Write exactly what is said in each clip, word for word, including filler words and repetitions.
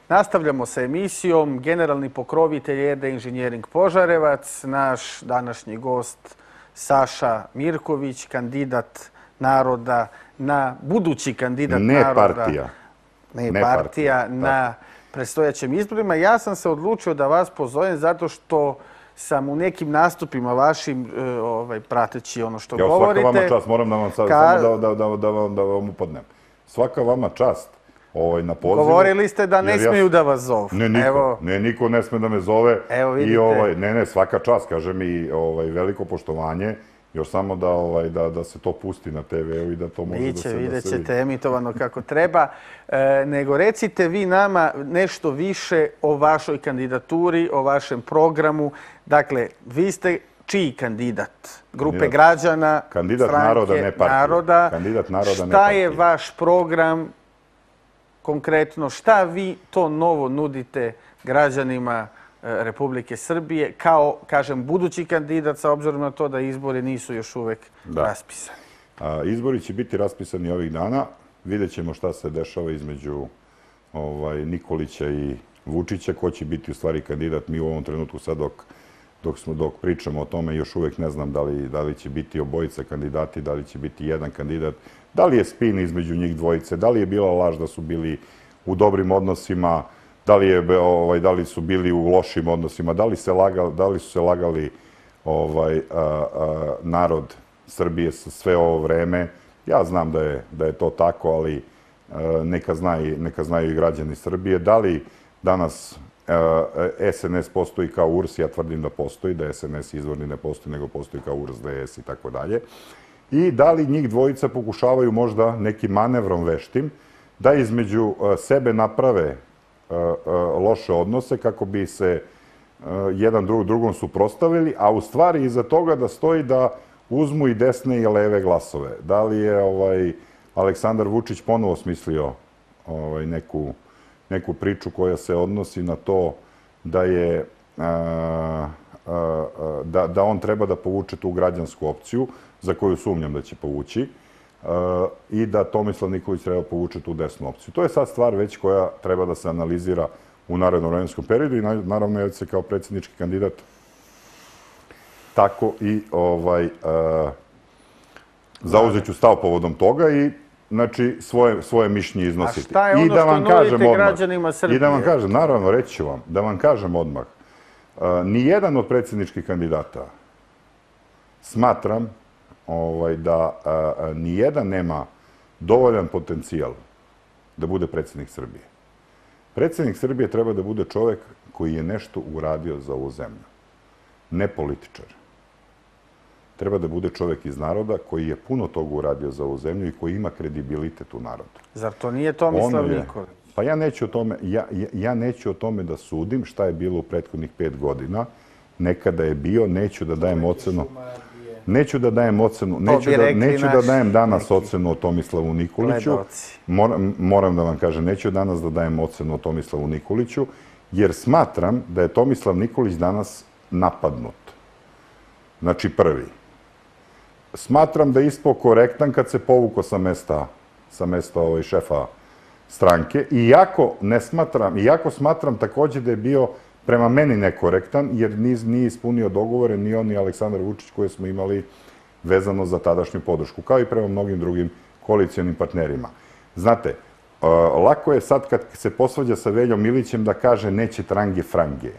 Nastavljamo sa emisijom. Generalni pokrovitelj Ede Inženjering Požarevac, naš današnji gost Saša Mirković, kandidat naroda na, budući kandidat ne naroda. Partija. Ne, ne partija. partija na predstojećim izborima. Ja sam se odlučio da vas pozovem zato što sam u nekim nastupima vašim ovaj, prateći ono što ja, govorite. Svaka vama čast, moram da vam sad, ka... samo da, da, da, da, vam, da vam upadnem. Svaka vama čast ovaj, na pozivu. Govorili ste da ne ja... smiju da vas zovu. Ne, niko, Evo... ne, niko ne sme da me zove. Evo vidite. I, ovaj, ne, ne, svaka čast, kažem i ovaj, veliko poštovanje. Još samo da, ovaj, da, da se to pusti na te ve u i da to može Biće, da se, vidjet da se vidi. ćete emitovano kako treba. E, nego recite vi nama nešto više o vašoj kandidaturi, o vašem programu. Dakle, vi ste čiji kandidat? Grupe Kandidat, građana, kandidat stranke, naroda, ne partije. naroda. Kandidat naroda, šta ne partije. je vaš program konkretno? Šta vi to novo nudite građanima Republike Srbije kao, kažem, budući kandidat sa obzirom na to da izbori nisu još uvek da. raspisani? A, izbori će biti raspisani ovih dana. Vidjet ćemo šta se dešava između ovaj, Nikolića i Vučića, ko će biti u stvari kandidat. Mi u ovom trenutku sad dok, dok, smo, dok pričamo o tome još uvek ne znam da li, da li će biti obojica kandidati, da li će biti jedan kandidat, da li je spin između njih dvojice, da li je bila laž da su bili u dobrim odnosima, Da li, je, ovaj, da li su bili u lošim odnosima, da li, se lagali, da li su se lagali ovaj, a, a, narod Srbije sve ovo vreme. Ja znam da je, da je to tako, ali a, neka, znaju, neka znaju i građani Srbije. Da li danas a, es en es postoji kao U R S? Ja tvrdim da postoji, da es en es izvorni ne postoji, nego postoji kao U R S, de es i tako dalje. I da li njih dvojica pokušavaju možda nekim manevrom veštim da između a, sebe naprave loše odnose kako bi se jedan drug, drugom suprotstavili, a u stvari iza toga da stoji da uzmu i desne i leve glasove. Da li je ovaj, Aleksandar Vučić ponovo smislio ovaj, neku, neku priču koja se odnosi na to da je a, a, da, da on treba da povuče tu građansku opciju za koju sumnjam da će povući. Uh, i da Tomislav Nikolić treba povuče tu desnu opciju. To je sad stvar već koja treba da se analizira u narednom vremenskom periodu i naravno ja se kao predsjednički kandidat tako i ovaj, uh, zauzet ću stav povodom toga i znači, svoje, svoje mišljenje iznositi. A šta je ono I da vam što kažem nudite odmah, građanima Srbije? I da vam kažem, naravno, reći ću vam, da vam kažem odmah, uh, nijedan od predsjedničkih kandidata smatram Ovaj, da a, a, nijedan nema dovoljan potencijal da bude predsjednik Srbije. Predsjednik Srbije treba da bude čovjek koji je nešto uradio za ovu zemlju. Ne političar. Treba da bude čovjek iz naroda koji je puno toga uradio za ovu zemlju i koji ima kredibilitet u narodu. Zar to nije Tomislav Nikolić? Pa ja neću, o tome, ja, ja neću o tome da sudim šta je bilo u prethodnih pet godina. Nekada je bio, neću da dajem ocenu... Neću da dajem ocenu, neću, da, neću da dajem danas neki ocenu o Tomislavu Nikoliću. Moram, moram da vam kažem, neću danas da dajem ocenu o Tomislavu Nikoliću, jer smatram da je Tomislav Nikolić danas napadnut. Znači prvi. Smatram da je ispao korektan kad se povukao sa mesta, sa mesta ovaj, šefa stranke. Iako ne smatram, iako smatram također da je bio prema meni nekorektan, jer nije ispunio dogovore ni on ni Aleksandar Vučić koje smo imali vezano za tadašnju podršku, kao i prema mnogim drugim koalicijonim partnerima. Znate, lako je sad kad se posvađa sa Veljom Milićem da kaže neće trange frange.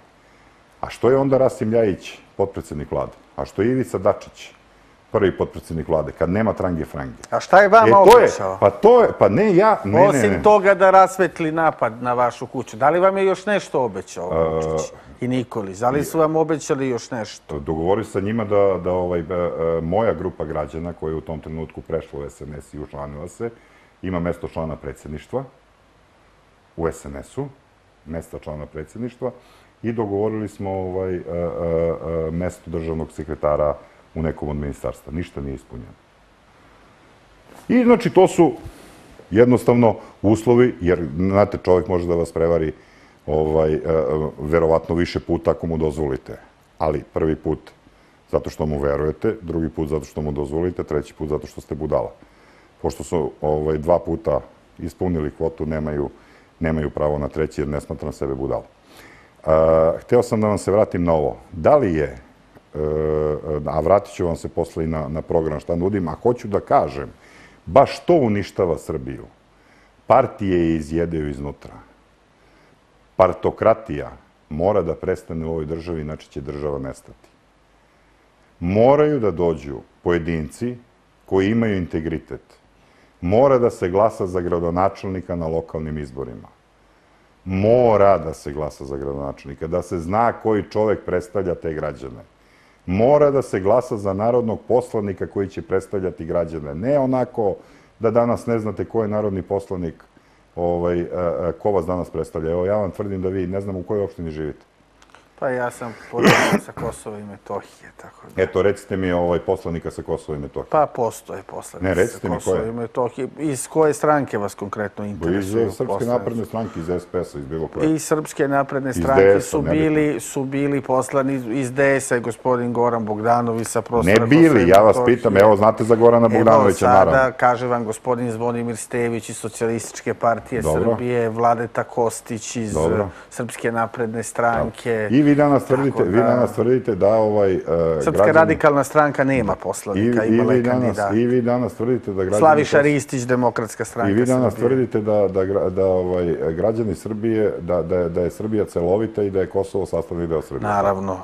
A što je onda Rasim Ljajić, potpredsjednik vlade? A što je Ivica Dačić, prvi potpredsjednik vlade, kad nema trange frange? A šta je vama e, obećao? Pa to je, pa ne ja... Ne, Osim ne, ne. toga da rasvetli napad na vašu kuću, da li vam je još nešto obećao Vučić i Nikolić? Da li su vam obećali još nešto? Dogovori sa njima da, da ovaj, moja grupa građana koja je u tom trenutku prešla u es en es i učlanila se, ima mesto člana predsjedništva u es en esu, mesta člana predsjedništva, i dogovorili smo ovaj, a, a, a, mesto državnog sekretara u nekom od ministarstva. Ništa nije ispunjeno. I znači to su jednostavno uslovi, jer znate, čovjek može da vas prevari ovaj, a, a, verovatno više puta ako mu dozvolite. Ali prvi put zato što mu verujete, drugi put zato što mu dozvolite, treći put zato što ste budala. Pošto su ovaj, dva puta ispunili kvotu, nemaju nemaju pravo na treći jer ne smatram sebe budal. Hteo sam da vam se vratim na ovo. Da li je, a vratit ću vam se posle i na program šta nudim, a hoću da kažem, baš to uništava Srbiju. Partije je izjedaju iznutra. Partokratija mora da prestane u ovoj državi, inače će država nestati. Moraju da dođu pojedinci koji imaju integritet. Mora da se glasa za gradonačelnika na lokalnim izborima. Mora da se glasa za gradonačelnika, da se zna koji čovek predstavlja te građane. Mora da se glasa za narodnog poslanika koji će predstavljati građane. Ne onako da danas ne znate ko je narodni poslanik, ko vas danas predstavlja. Evo, ja vam tvrdim da vi ne znam u kojoj opštini živite. Pa ja sam poslanik sa Kosova i Metohije, tako da... Eto, recite mi poslanika sa Kosova i Metohije. Pa postoje poslanik sa Kosova i Metohije. Iz koje stranke vas konkretno interesuju? Iz Srpske napredne stranke, iz S P S-a, iz bilo koje. Iz Srpske napredne stranke su bili poslani, iz D S-a je gospodin Goran Bogdanović sa prostora Kosova i Metohije. Ne bili, ja vas pitam, evo znate za Gorana Bogdanovića, naravno. Evo sada, kaže vam gospodin Zvonimir Stević iz Socijalističke partije Srbije, Vladeta Kostić iz Srpske napredne stranke. I vi danas tvrdite da ovaj... Srpska radikalna stranka nema poslanika, imala je kandidat. I vi danas tvrdite da građani... Slaviša Ristić, Demokratska stranka Srbije. I vi danas tvrdite da građani Srbije, da je Srbija celovita i da je Kosovo sastavni deo Srbije. Naravno.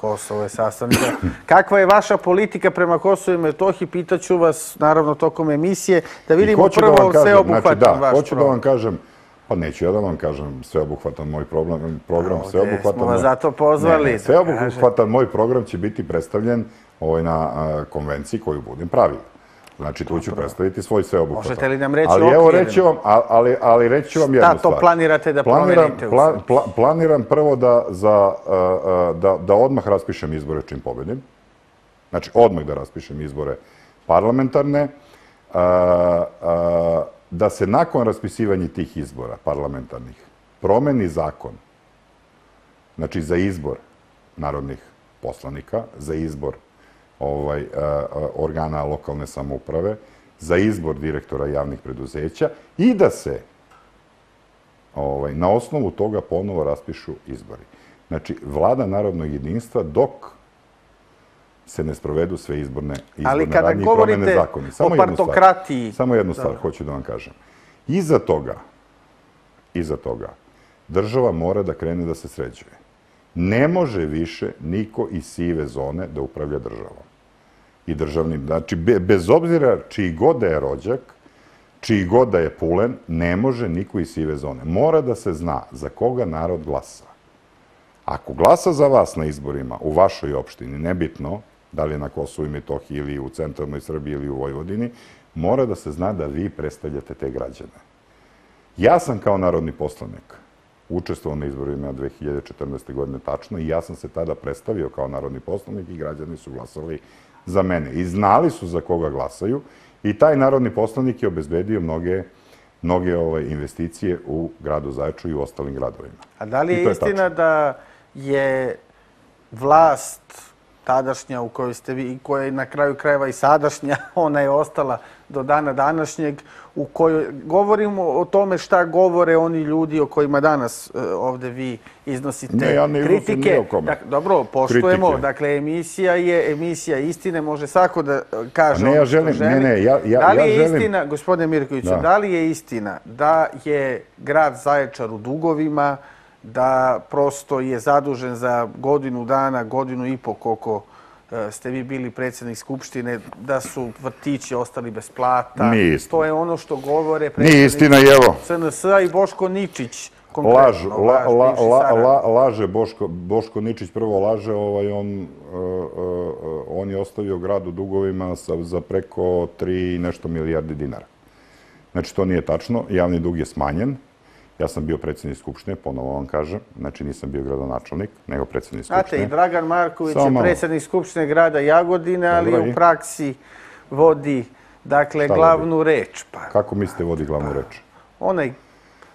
Kosovo je sastavni deo. Kakva je vaša politika prema Kosovu i Metohiji? Pitaću vas, naravno, tokom emisije, da vidimo prvo sveobuhvatan vaš Hoću da vam kažem, pa neću ja da vam kažem sveobuhvatan moj program, sveobuhvatan... Smo vas zato pozvali. Sveobuhvatan moj program će biti predstavljen na konvenciji koju budem pravio. Znači, tu ću predstaviti svoj sveobuhvatan. Možete li nam reći okvirno? Ali reći ću vam jednu stvar. Šta to planirate da promenite u Srbiji? Planiram prvo da odmah raspišem izbore čim pobedim. Znači, odmah da raspišem izbore parlamentarne. Da se nakon raspisivanja tih izbora parlamentarnih promeni zakon, znači za izbor narodnih poslanika, za izbor organa lokalne samouprave, za izbor direktora javnih preduzeća i da se na osnovu toga ponovo raspišu izbori. Znači, vlada narodnog jedinstva dok se ne sprovedu sve izborne radnje i promene zakoni. Ali kada govorite o partokratiji... Samo jednu stvar hoću da vam kažem. Iza toga, iza toga, država mora da krene da se sređuje. Ne može više niko iz sive zone da upravlja državom. I državnim, znači, bez obzira čiji god da je rođak, čiji god da je pulen, ne može niko iz sive zone. Mora da se zna za koga narod glasa. Ako glasa za vas na izborima u vašoj opštini, nebitno, da li je na Kosovu i Metohiji ili u centralnoj Srbiji ili u Vojvodini, mora da se zna da vi predstavljate te građane. Ja sam kao narodni poslanik učestvovao na izborima dve hiljade četrnaeste. godine tačno i ja sam se tada predstavio kao narodni poslanik i građani su glasali za mene. I znali su za koga glasaju i taj narodni poslanik je obezbedio mnoge mnoge investicije u gradu Zaječaru i u ostalim gradovima. A da li je istina da je vlast tadašnja u kojoj ste vi i koja je na kraju krajeva i sadašnja, ona je ostala do dana današnjeg, u kojoj govorimo o tome šta govore oni ljudi o kojima danas ovde vi iznosite kritike. Ne, ja ne iznosim nije o kome. Dobro, poštujemo. Dakle, emisija je emisija istine, može svako da kaže ono što želi. Da li je istina, gospodine Mirkoviću, da li je istina da je grad Zaječar u dugovima, da prosto je zadužen za godinu dana, godinu i po koliko ste vi bili predsjednik Skupštine, da su vrtići ostali bez plata. Nije istina. To je ono što govore predsjednici C N S-a i Boško Ničić. Lažu, laže Boško Ničić, prvo laže, on je ostavio grad u dugovima za preko tri nešto milijardi dinara. Znači, to nije tačno, javni dug je smanjen. Ja sam bio predsjednik Skupštine, ponovo vam kažem, znači nisam bio gradonačelnik, nego predsjednik Skupštine. Znate, i Dragan Marković je predsjednik Skupštine grada Jagodine, ali u praksi vodi, dakle, glavnu reč. Kako mislite vodi glavnu reč? Onaj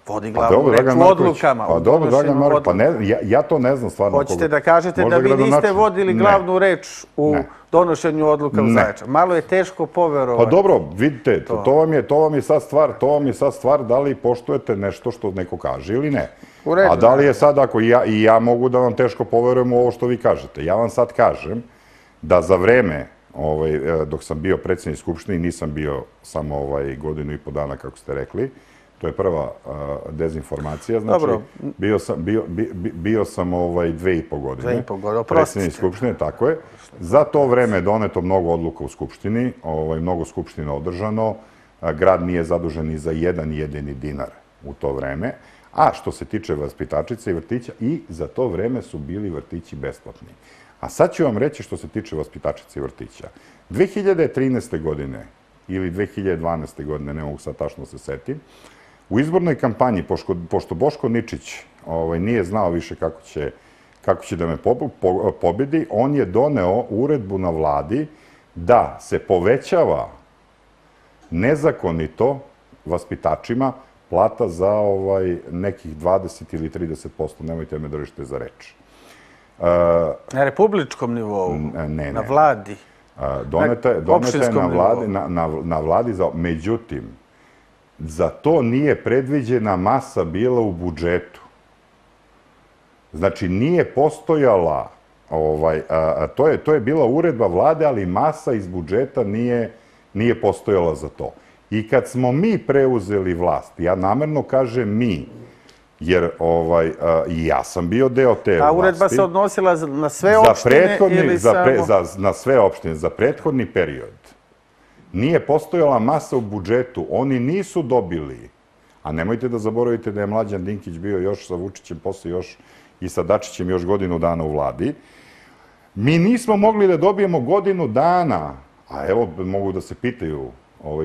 vodi glavnu reč u odlukama. Pa dobro, Dragan Marković, pa ja to ne znam stvarno. Hoćete da kažete da vi niste vodili glavnu reč u donošenju odluka u Zaječaru? Malo je teško poverovati. Pa dobro, vidite, to vam je sad stvar, to vam je sad stvar da li poštujete nešto što neko kaže ili ne. A da li je sad, ako i ja mogu da vam teško poverujem u ovo što vi kažete. Ja vam sad kažem da za vreme dok sam bio predsjednik Skupštine, nisam bio samo godinu i po dana, kako ste rekli, to je prva dezinformacija, znači bio sam dve i po godine predsjednik Skupštine, tako je. Za to vreme je doneto mnogo odluka u Skupštini, mnogo Skupština održano, grad nije zadužen ni za jedan jedini dinar u to vreme, a što se tiče vaspitačica i vrtića, i za to vreme su bili vrtići besplatni. A sad ću vam reći što se tiče vaspitačica i vrtića. dve hiljade trinaeste. godine ili dve hiljade dvanaeste. godine, ne mogu sad tačno se setim, u izbornoj kampanji, pošto Boško Ničić nije znao više kako će da me pobedi, on je doneo uredbu na vladi da se povećava nezakonito vaspitačima plata za nekih dvadeset ili trideset posto, nemojte me držite za reč. Na republičkom nivou? Ne, na vladi? Doneta je na vladi, međutim, za to nije predviđena masa bila u budžetu. Znači, nije postojala, to je bila uredba vlade, ali masa iz budžeta nije postojala za to. I kad smo mi preuzeli vlast, ja namerno kažem mi, jer i ja sam bio deo te vlasti. A uredba se odnosila na sve opštine ili samo... Na sve opštine, za prethodni period. Nije postojala masa u budžetu, oni nisu dobili, a nemojte da zaboravite da je Mlađan Dinkić bio još sa Vučićem, posle još i sa Dačićem još godinu dana u vladi. Mi nismo mogli da dobijemo godinu dana, a evo mogu da se pitaju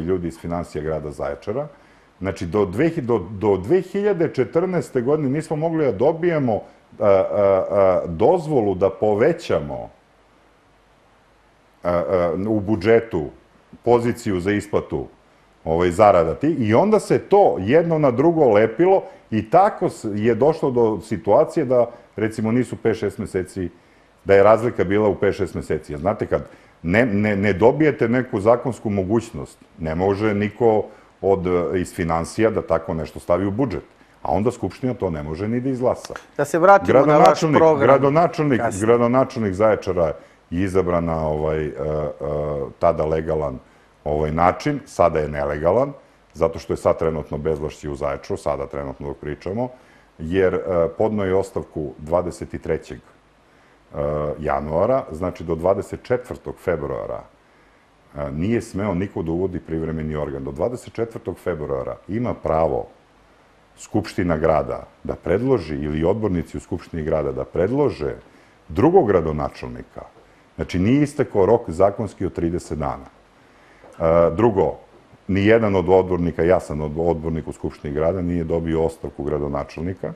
ljudi iz finansija grada Zaječara, znači do dve hiljade četrnaeste. godine nismo mogli da dobijemo dozvolu da povećamo u budžetu poziciju za isplatu zarada ti, i onda se to jedno na drugo lepilo i tako je došlo do situacije da, recimo, nisu pet šest meseci, da je razlika bila u pet šest meseci. Znate, kad ne dobijete neku zakonsku mogućnost, ne može niko iz finansija da tako nešto stavi u budžet. A onda Skupština to ne može ni da izglasa. Da se vratimo na vaš program. Gradonačelnik Zaječara je izabran na tada legalan način, sada je nelegalan, zato što je sad trenutno bezvlašće u Zaječaru, sada trenutno dok pričamo, jer podno je ostavku dvadeset trećeg januara, znači do dvadeset četvrtog februara nije smeo niko da uvodi privremeni organ. Do dvadeset četvrtog februara ima pravo Skupština grada da predloži, ili odbornici u Skupštini grada da predlože drugog gradonačelnika. Znači, nije istekao rok zakonski od trideset dana. Drugo, nijedan od odbornika, ja sam odbornik u Skupštini grada, nije dobio ostavku gradonačelnika.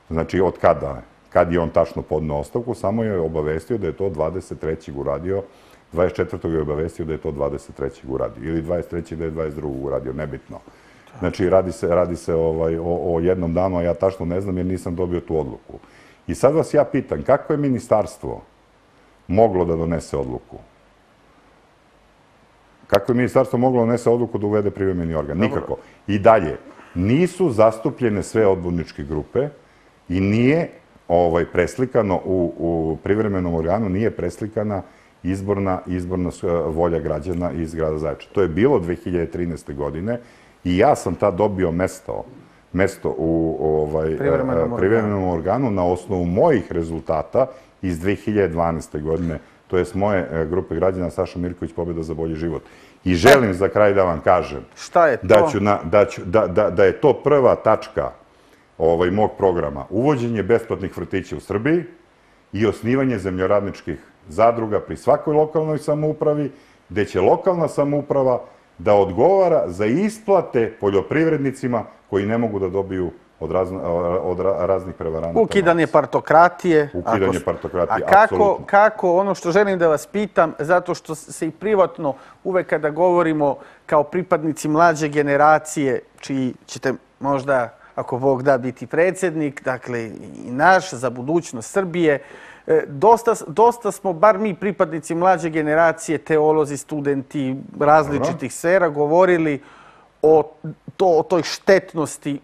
Znači, od kada? Kad je on tačno podneo ostavku, samo je obavestio da je to dvadeset trećeg uradio, dvadeset četvrtog je obavestio da je to dvadeset trećeg uradio, ili dvadeset trećeg da je dvadeset drugog uradio, nebitno. Znači, radi se o jednom danu, a ja tačno ne znam jer nisam dobio tu odluku. I sad vas ja pitam, kako je ministarstvo moglo da donese odluku? Kako je ministarstvo moglo da donese odluku da uvede privremeni organ? Nikako. I dalje, nisu zastupljene sve odborničke grupe i nije preslikano u privremenom organu, nije preslikana izborna volja građana iz grada Zaječara. To je bilo dve hiljade trinaeste. godine i ja sam tad dobio mesto u privremenom organu na osnovu mojih rezultata iz dve hiljade dvanaeste. godine, to je s moje grupe građana Saša Mirković, Pobjeda za bolji život. I želim za kraj da vam kažem da je to prva tačka mog programa, uvođenje besplatnih vrtića u Srbiji i osnivanje zemljoradničkih zadruga pri svakoj lokalnoj samoupravi, gde će lokalna samouprava da odgovara za isplate poljoprivrednicima koji ne mogu da dobiju od raznih prevaranata. Ukidanje partokratije. Ukidanje partokratije, apsolutno. A kako, ono što želim da vas pitam, zato što se i privatno uvek kada govorimo kao pripadnici mlađe generacije, čiji ćete možda ako Bog da, biti predsjednik, dakle i naš, za budućnost Srbije. Dosta, dosta smo, bar mi pripadnici mlađe generacije, teolozi, studenti različitih sfera, govorili o, to, o toj štetnosti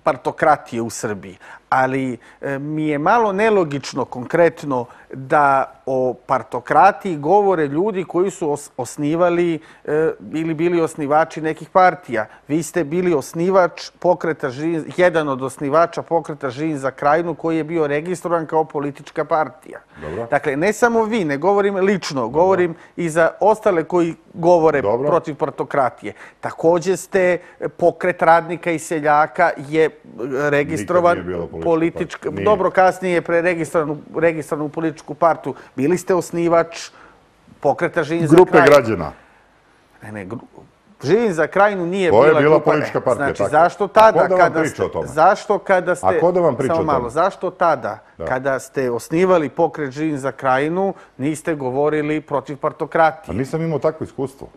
partokratije u Srbiji. Ali e, mi je malo nelogično konkretno da o partokratiji govore ljudi koji su os osnivali e, ili bili osnivači nekih partija. Vi ste bili osnivač pokreta Žin, jedan od osnivača pokreta Žin za Krajinu koji je bio registrovan kao politička partija. Dobro. Dakle, ne samo vi, ne govorim lično, Dobro. govorim i za ostale koji govore Dobro. protiv partokratije. Također ste pokret radnika i seljaka je registrovan politička, dobro, kasnije je preregistrovan registrovan u političku partiju. Bili ste osnivač pokreta Žin za Krajinu. Grupe građana. Ne, ne, gru... Žin za Krajinu nije bila, bila, bila politička partija. Znači, tako. zašto tada, A ko da kada vam ste, o tome? zašto kada ste, A ko da vam priča samo o tome? malo, zašto tada, da. kada ste osnivali pokret Žin za Krajinu, niste govorili protiv partokratije? A nisam imao takvo iskustvo.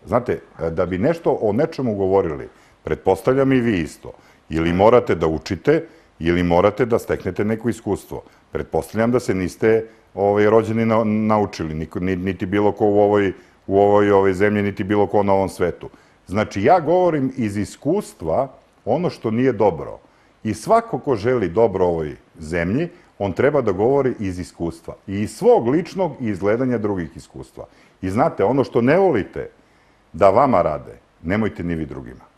Znate, da bi nešto o nečemu govorili, pretpostavljam i vi isto. Ili morate da učite, ili morate da steknete neko iskustvo. Pretpostavljam da se niste ovaj, rođeni na, naučili, niko, niti bilo ko u ovoj, u ovoj, ovoj zemlji, niti bilo ko na ovom svetu. Znači, ja govorim iz iskustva ono što nije dobro. I svako ko želi dobro ovoj zemlji, on treba da govori iz iskustva. I iz svog ličnog i iz gledanja drugih iskustva. I znate, ono što ne volite da vama rade, nemojte ni vi drugima.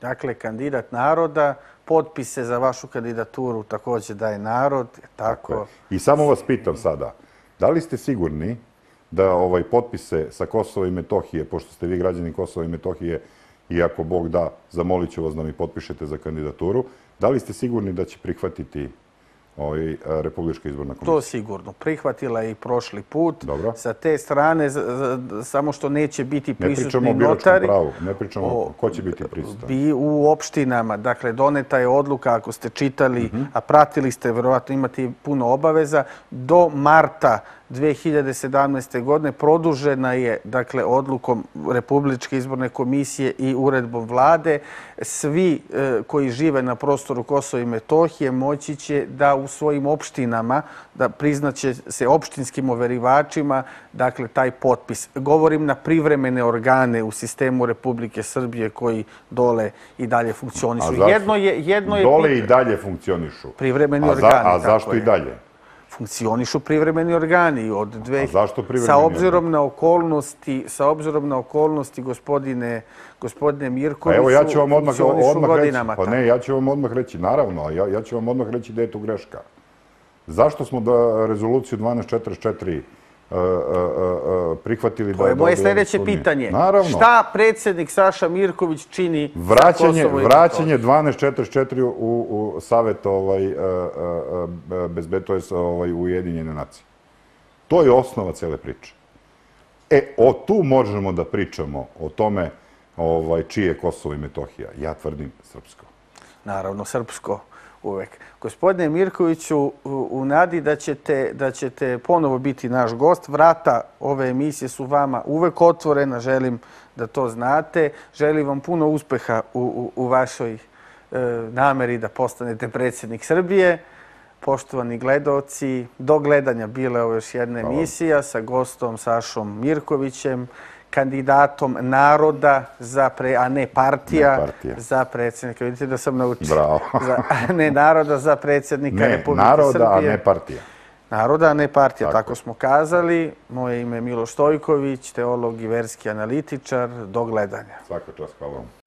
Dakle, kandidat naroda, potpise za vašu kandidaturu također daje narod. Tako. Tako I samo vas pitam sada, da li ste sigurni da ovaj potpise sa Kosova i Metohije, pošto ste vi građani Kosova i Metohije, i ako Bog da, zamolit ću vas da mi potpišete za kandidaturu, da li ste sigurni da će prihvatiti ovaj, Republička izborna komisija? To sigurno. Prihvatila je i prošli put. Dobro. Sa te strane, samo što neće biti prisutni notari. Ne pričamo o biračkom pravu, ne pričamo o ko će biti prisutan. Bi u opštinama, dakle, doneta je odluka, ako ste čitali, uh-huh. a pratili ste, verovatno imate puno obaveza, do marta dve hiljade sedamnaeste. godine produžena je, dakle, odlukom Republičke izborne komisije i uredbom vlade. Svi e, koji žive na prostoru Kosova i Metohije moći će da u svojim opštinama, da priznaće se opštinskim overivačima, dakle, taj potpis. Govorim na privremene organe u sistemu Republike Srbije koji dole i dalje funkcionišu. Jedno je, jedno je dole i dalje funkcionišu. Privremeni a organi. A zašto i dalje? Funkcionišu privremeni organi od dve... A zašto privremeni sa obzirom na okolnosti, sa obzirom na okolnosti gospodine, gospodine Mirkoviću, evo, ja ću vam odmah, odmah godinama. Reći, pa ne, ja ću vam odmah reći, naravno, ja, ja ću vam odmah reći da je tu greška. Zašto smo da rezoluciju dvanaest četrdeset četiri Uh, uh, uh, prihvatili da... To je moje sljedeće pitanje. Naravno. Šta predsjednik Saša Mirković čini vraćanje, za Kosovo i vraćanje dvanaest četrdeset četiri u, u Savet ovaj, uh, uh, bezbednosti ovaj, Ujedinjene nacije. To je osnova cele priče. E, o tu možemo da pričamo o tome ovaj, čije je Kosovo i Metohija. Ja tvrdim srpsko. Naravno, srpsko. Uvek. Gospodine Mirkoviću, u, u nadi da ćete, da ćete ponovo biti naš gost, vrata ove emisije su vama uvek otvorena, želim da to znate. Želim vam puno uspeha u, u, u vašoj e, nameri da postanete predsjednik Srbije. Poštovani gledaoci, do gledanja bila je ovo još jedna emisija sa gostom Sašom Mirkovićem, kandidatom naroda, za pre, a ne partija, ne partija, za predsjednika. Vidite da sam naučio. Bravo. Za, ne naroda, za predsjednika ne, Republike naroda, Srbije. a ne partija. Naroda, a ne partija, tako, tako smo kazali. Moje ime je Miloš Stojković, teolog i verski analitičar. Do gledanja. Svaka čast, hvala vam.